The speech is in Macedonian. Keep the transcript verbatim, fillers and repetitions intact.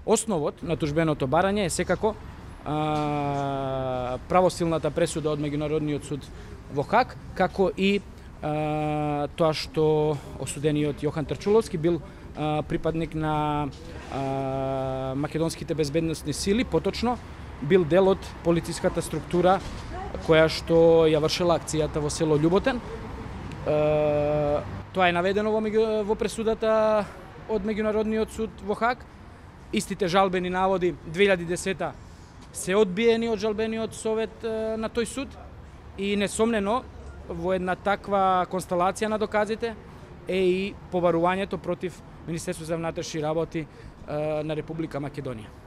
Основот на тужбеното барање е секако а, правосилната пресуда од Меѓународниот суд во Хаг, како и а, тоа што осудениот Јохан Трчуловски бил а, припадник на а, македонските безбедносни сили, поточно бил дел од полициската структура која што ја вршела акцијата во село Љуботен. А, тоа е наведено во, во пресудата од Меѓународниот суд во Хаг. Истите жалбени наводи две илјади и десета се одбиени од жалбениот совет на тој суд и несомнено во една таква констелација на доказите е и побарувањето против Министерството за внатрешни работи на Република Македонија.